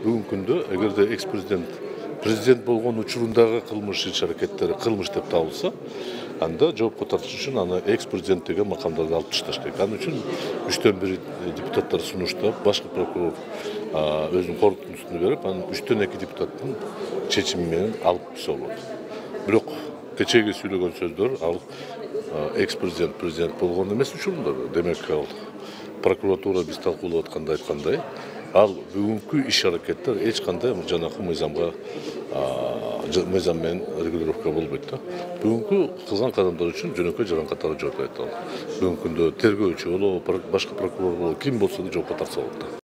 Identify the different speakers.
Speaker 1: бүгүнкү күндө эгерде президент болгон учурундагы кылмыш иш-аракеттери кылмыш деп табылса, анда жоопко тартыш үчүн аны экс-президент деген макамдарды алып ташташ керек. Ал үчүн 3төн 1 депутаттар сунуштап, башкы прокурор өзүнүн корутундусун берип, анан 3төн 2 депутаттын чечими менен алып койсо болот. Бирок кечеги сүйлөгөн сөздөр ал экс-президент болгон эмес учурунда. Демек ал прокуратура биз талкуулап атканда айткандай, ал бүгүнкү иш-аракеттер эч кандай жанакы мыйзам менен регулировка болбойт да. Бүгүнкү кылган кадамдар үчүн жөнөкөй жаран катары жооп берет ал. Бүгүнкү күндө тергөөчү болобу, башка прокурор болобу, ким болсо да жоопко тартса болот да.